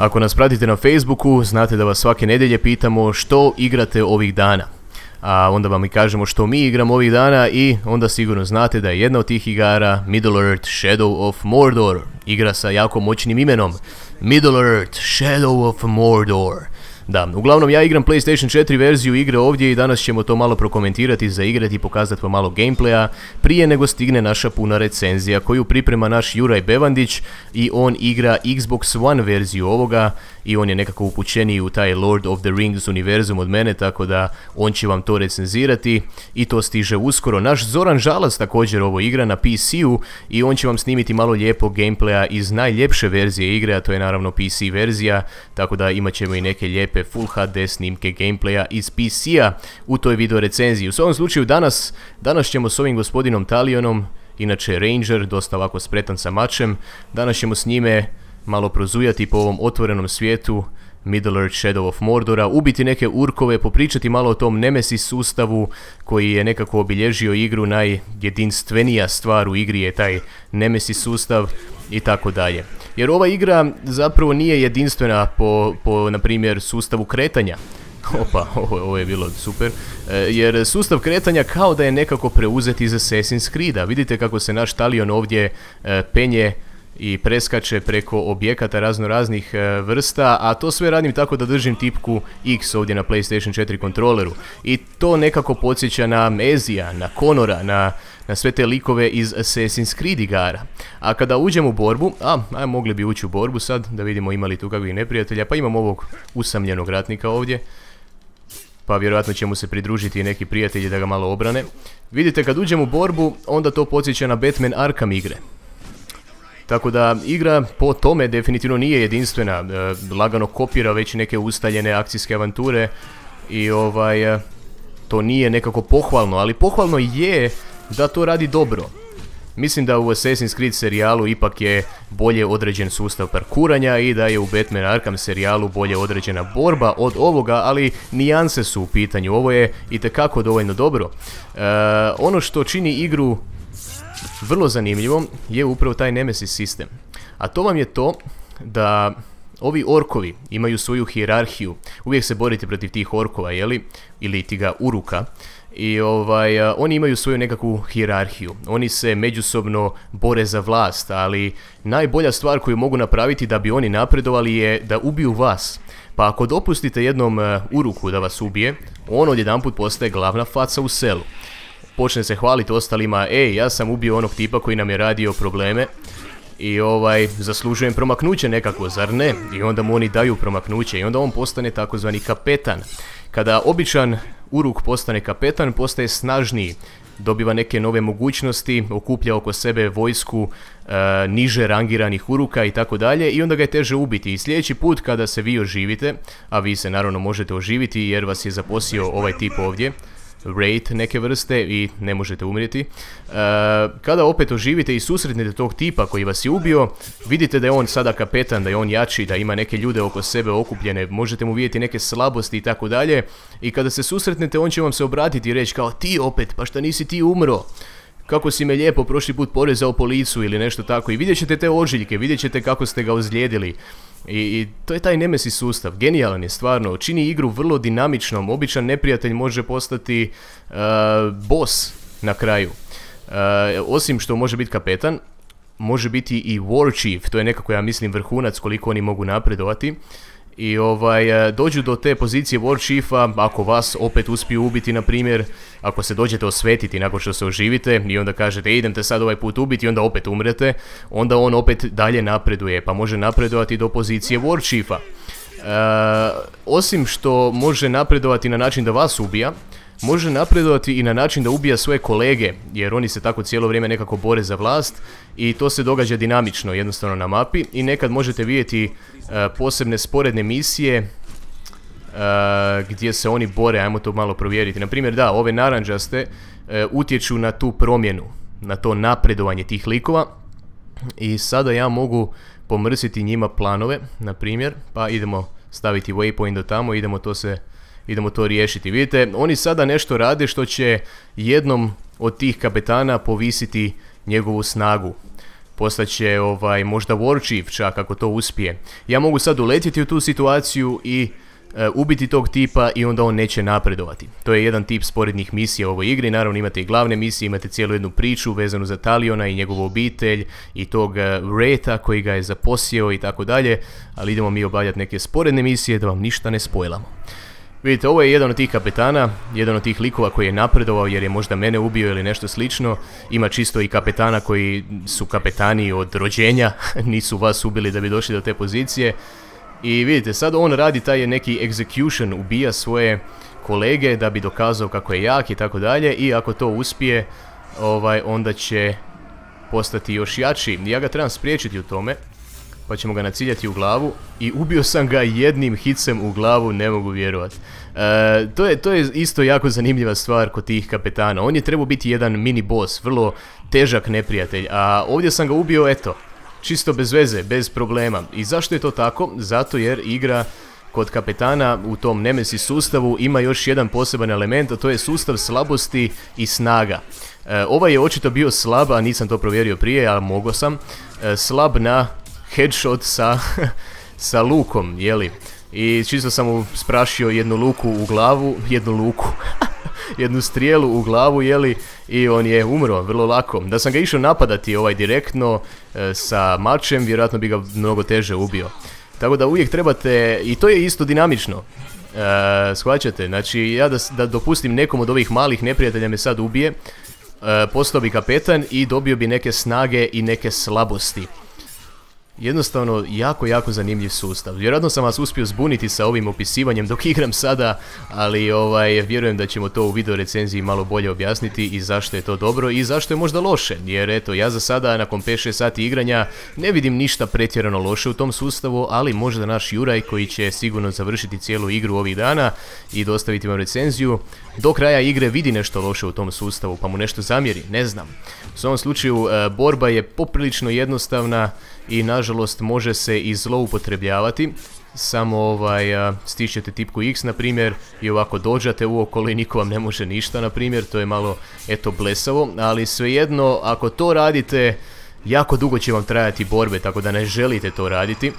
Ako nas pratite na Facebooku, znate da vas svake nedjelje pitamo što igrate ovih dana. A onda vam i kažemo što mi igramo ovih dana i onda sigurno znate da je jedna od tih igara Middle-earth Shadow of Mordor. Igra sa jako moćnim imenom. Middle-earth Shadow of Mordor. Da, uglavnom ja igram PlayStation 4 verziju igre ovdje i danas ćemo to malo prokomentirati, zaigrati i pokazati vam malo gameplaya prije nego stigne naša puna recenzija koju priprema naš Juraj Bevandić i on igra Xbox One verziju ovoga i on je nekako upućeniji u taj Lord of the Rings univerzum od mene, tako da on će vam to recenzirati i to stiže uskoro. Naš Zoran Žalac također ovo igra na PC-u i on će vam snimiti malo lijepog gameplaya iz najljepše verzije igre, a to je naravno PC verzija, tako da imat ćemo i neke lijepe Full HD snimke gameplaya iz PC-a u toj video recenziji. U svom slučaju danas ćemo s ovim gospodinom Talionom, inače Ranger, dosta ovako spretan sa mačem, danas ćemo s njime malo prozujati po ovom otvorenom svijetu Middle-earth Shadow of Mordora, ubiti neke urkove, popričati malo o tom Nemesis sustavu koji je nekako obilježio igru. Najjedinstvenija stvar u igri je taj Nemesis sustav i tako dalje. Jer ova igra zapravo nije jedinstvena po na primjer, sustavu kretanja. Opa, ovo je bilo super. Jer sustav kretanja kao da je nekako preuzet iz Assassin's Creed-a. Vidite kako se naš Talion ovdje penje i preskače preko objekata raznoraznih vrsta, a to sve radim tako da držim tipku X ovdje na PlayStation 4 kontroleru. I to nekako podsjeća na Ezija, na Conora, na sve te likove iz Assassin's Creed igara. A kada uđemo u borbu, mogli bi ući u borbu sad, da vidimo ima li tu kakvih neprijatelja, pa imam ovog usamljenog ratnika ovdje. Pa vjerojatno će mu se pridružiti i neki prijatelji da ga malo obrane. Vidite, kad uđemo u borbu, onda to podsjeća na Batman Arkham igre. Tako da igra po tome definitivno nije jedinstvena, lagano kopira već neke ustaljene akcijske avanture i to nije nekako pohvalno, ali pohvalno je da to radi dobro. Mislim da u Assassin's Creed serijalu ipak je bolje određen sustav parkuranja i da je u Batman Arkham serijalu bolje određena borba od ovoga, ali nijanse su u pitanju, ovo je itekako dovoljno dobro. Ono što čini igru vrlo zanimljivom je upravo taj Nemesis sistem. A to vam je to da ovi orkovi imaju svoju hijerarhiju. Uvijek se borite protiv tih orkova, jeli? Ili tiga uruka. I oni imaju svoju nekakvu hijerarhiju. Oni se međusobno bore za vlast, ali najbolja stvar koju mogu napraviti da bi oni napredovali je da ubiju vas. Pa ako dopustite jednom uruku da vas ubije, on odjedanput postaje glavna faca u selu. Počne se hvaliti ostalima, ja sam ubio onog tipa koji nam je radio probleme i zaslužujem promaknuće nekako, zar ne? I onda mu oni daju promaknuće i onda on postane takozvani kapetan. Kada običan uruk postane kapetan, postaje snažniji, dobiva neke nove mogućnosti, okuplja oko sebe vojsku niže rangiranih uruka i tako dalje i onda ga je teže ubiti. I sljedeći put kada se vi oživite, a vi se naravno možete oživiti jer vas je zaposio ovaj tip ovdje, raid neke vrste i ne možete umrijeti. Kada opet oživite i susretnete tog tipa koji vas je ubio, vidite da je on sada kapetan, da je on jači, da ima neke ljude oko sebe okupljene, možete mu vidjeti neke slabosti i tako dalje. I kada se susretnete, on će vam se obratiti i reći kao ti opet, pa šta nisi ti umro? Kako si me lijepo prošli put porezao po licu ili nešto tako. I vidjet ćete te ožiljke, vidjet ćete kako ste ga ozlijedili. I to je taj Nemesis sustav, genijalan je stvarno, čini igru vrlo dinamičnom, običan neprijatelj može postati boss na kraju. Osim što može biti kapetan, može biti i War Chief, to je nekako ja mislim vrhunac koliko oni mogu napredovati. I dođu do te pozicije War Chiefa, ako vas opet uspiju ubiti, na primjer, ako se dođete osvetiti nakon što se oživite i onda kažete idem te sad ovaj put ubiti i onda opet umrete, onda on opet dalje napreduje, pa može napredovati do pozicije War Chiefa. Osim što može napredovati na način da vas ubija, može napredovati i na način da ubija svoje kolege, jer oni se tako cijelo vrijeme nekako bore za vlast i to se događa dinamično jednostavno na mapi i nekad možete vidjeti posebne sporedne misije gdje se oni bore, ajmo to malo provjeriti. Naprimjer, da, ove naranđaste utječu na tu promjenu, na to napredovanje tih likova i sada ja mogu pomrsiti njima planove, na primjer, pa idemo staviti waypoint do tamo, idemo to riješiti. Vidite, oni sada nešto rade što će jednom od tih kapetana povisiti njegovu snagu. postaće možda War Chief čak ako to uspije. Ja mogu sad uletjeti u tu situaciju i ubiti tog tipa i onda on neće napredovati. To je jedan tip sporednih misija u ovoj igri. Naravno imate i glavne misije, imate cijelu jednu priču vezanu za Taliona i njegovu obitelj i tog Wraitha koji ga je zaposjeo i tako dalje, ali idemo mi obavljati neke sporedne misije da vam ništa ne spojlamo. Vidite, ovo je jedan od tih kapetana, jedan od tih likova koji je napredovao jer je možda mene ubio ili nešto slično. Ima čisto i kapetana koji su kapetani od rođenja, nisu vas ubili da bi došli do te pozicije. I vidite, sad on radi taj neki execution, ubija svoje kolege da bi dokazao kako je jak i tako dalje. I ako to uspije, onda će postati još jači. Ja ga trebam spriječiti u tome, pa ćemo ga naciljati u glavu. I ubio sam ga jednim hicem u glavu, ne mogu vjerovati. To je isto jako zanimljiva stvar kod tih kapetana. On je trebao biti jedan mini boss, vrlo težak neprijatelj. A ovdje sam ga ubio, eto, čisto bez veze, bez problema. I zašto je to tako? Zato jer igra kod kapetana u tom Nemesis sustavu ima još jedan poseban element, a to je sustav slabosti i snaga. Ovaj je očito bio slab, a nisam to provjerio prije, ali mogao sam. Slab na headshot sa lukom, jeli? I čisto sam mu sprašio jednu luku u glavu, jednu strijelu u glavu, jeli, i on je umro vrlo lako. Da sam ga išao napadati direktno sa mačem, vjerojatno bi ga mnogo teže ubio. Tako da uvijek trebate, i to je isto dinamično, shvaćate, znači ja da dopustim nekom od ovih malih neprijatelja me sad ubije, postao bi kapetan i dobio bi neke snage i neke slabosti. Jednostavno, jako zanimljiv sustav. Vjerojatno sam vas uspio zbuniti sa ovim opisivanjem dok igram sada, ali vjerujem da ćemo to u video recenziji malo bolje objasniti i zašto je to dobro i zašto je možda loše. Jer eto, ja za sada nakon 5-6 sati igranja ne vidim ništa pretjerano loše u tom sustavu, ali možda naš Juraj koji će sigurno završiti cijelu igru ovih dana i dostaviti vam recenziju, do kraja igre vidi nešto loše u tom sustavu pa mu nešto zamjeri, ne znam. U svom slučaju borba je poprilično jednostavna i nažalost može se i zloupotrebljavati. Samo stišćete tipku X na primjer i ovako dođate uokolo i niko vam ne može ništa na primjer, to je malo eto blesavo, ali svejedno ako to radite jako dugo će vam trajati borbe, tako da ne želite to raditi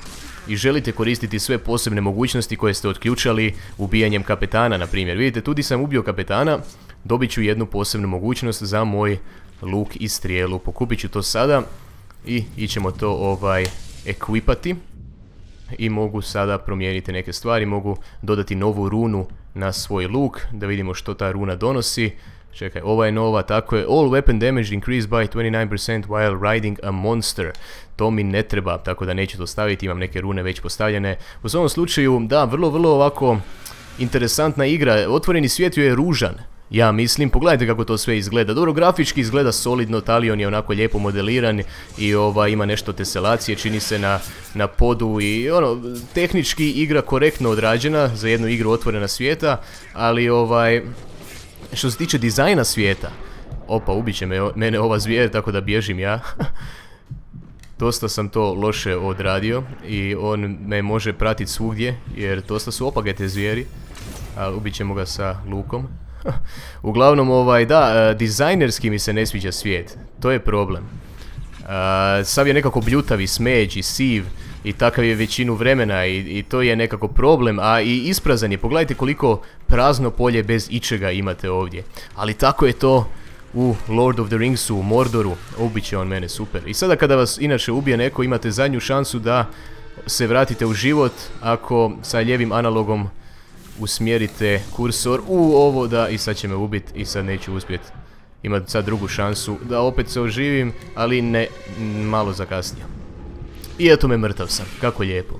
i želite koristiti sve posebne mogućnosti koje ste otključali ubijanjem kapetana na primjer. Vidite, tu di sam ubio kapetana, dobit ću jednu posebnu mogućnost za moj luk i strijelu. Pokupit ću to sada i ićemo to ekvipati. I mogu sada promijeniti neke stvari, mogu dodati novu runu na svoj luk, da vidimo što ta runa donosi. Čekaj, ova je nova, tako je, all weapon damage increased by 29% while riding a monster. To mi ne treba, tako da neću to staviti, imam neke rune već postavljene. U svom slučaju, da, vrlo ovako interesantna igra, otvoreni svijet je ružan. Ja mislim, pogledajte kako to sve izgleda. Dobro, grafički izgleda solidno, Talion je onako lijepo modeliran i ima nešto teselacije, čini se na podu i tehnički igra korektno odrađena za jednu igru otvorena svijeta, ali što se tiče dizajna svijeta, opa, ubit će mene ova zvijer, tako da bježim ja. Dosta sam to loše odradio i on me može pratiti svugdje, jer dosta su opake te zvijeri, ali ubit ćemo ga sa lukom. Uglavnom, da, dizajnerski mi se ne sviđa svijet, to je problem. Sav je nekako bljutavi, smeđi, siv i takav je većinu vremena i to je nekako problem, a i isprazan je. Pogledajte koliko prazno polje bez ičega imate ovdje. Ali tako je to u Lord of the Ringsu, u Mordoru, ubit će on mene, super. I sada kada vas inače ubije neko, imate zadnju šansu da se vratite u život ako sa lijevim analogom usmjerite kursor u ovo, da, i sad će me ubiti i sad neću uspjeti. Imam sad drugu šansu da opet se oživim, ali ne, malo zakasnio. I eto me, mrtav sam, kako lijepo.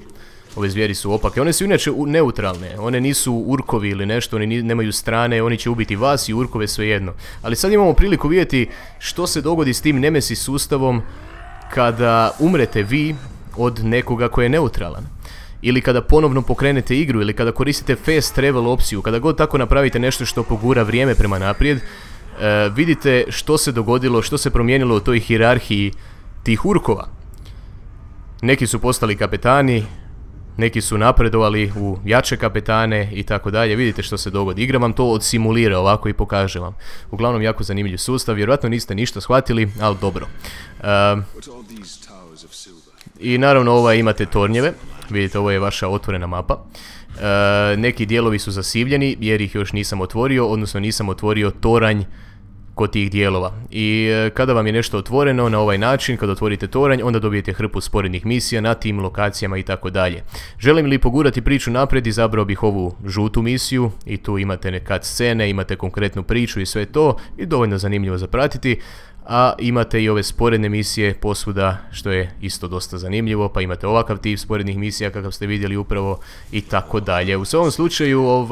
Ove zvijeri su opake, one su inače neutralne, one nisu urkovi ili nešto, oni nemaju strane, oni će ubiti vas i urkove svejedno. Ali sad imamo priliku vidjeti što se dogodi s tim Nemesis sustavom kada umrete vi od nekoga koji je neutralan. Ili kada ponovno pokrenete igru, ili kada koristite fast travel opciju, kada god tako napravite nešto što pogura vrijeme prema naprijed, vidite što se dogodilo, što se promijenilo u toj hijerarhiji tih urkova. Neki su postali kapetani, neki su napredovali u jače kapetane i tako dalje. Vidite što se dogodi. Igra vam to odsimulira ovako i pokaže vam. Uglavnom jako zanimljiv sustav, vjerojatno niste ništa shvatili, ali dobro. I naravno imate tornjeve, vidite ovo je vaša otvorena mapa. Neki dijelovi su zasivljeni jer ih još nisam otvorio, odnosno nisam otvorio toranj kod tih dijelova. I kada vam je nešto otvoreno na ovaj način, kada otvorite toranj, onda dobijete hrpu sporednih misija na tim lokacijama i tako dalje. Želim li pogurati priču naprijed, izabrao bih ovu žutu misiju i tu imate neke scene, imate konkretnu priču i sve to i dovoljno zanimljivo za pratiti. A imate i ove sporedne misije posvuda, što je isto dosta zanimljivo, pa imate ovakav tip sporednih misija kakav ste vidjeli upravo i tako dalje. U svom slučaju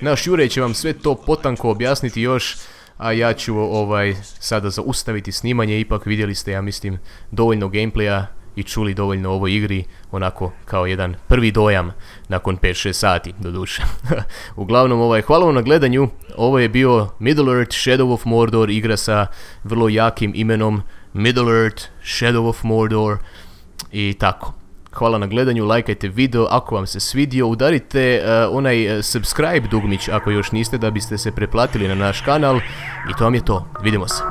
naš Jure će vam sve to potanko objasniti još, a ja ću sada zaustaviti snimanje. Ipak vidjeli ste, ja mislim, dovoljno gameplaya i čuli dovoljno o ovoj igri, onako kao jedan prvi dojam nakon 5-6 sati, doduše. Uglavnom, hvala vam na gledanju. Ovo je bio Middle-earth Shadow of Mordor, igra sa vrlo jakim imenom Middle-earth Shadow of Mordor i tako. Hvala na gledanju, lajkajte video ako vam se svidio, udarite onaj subscribe dugmić ako još niste, da biste se preplatili na naš kanal i to vam je to. Vidimo se.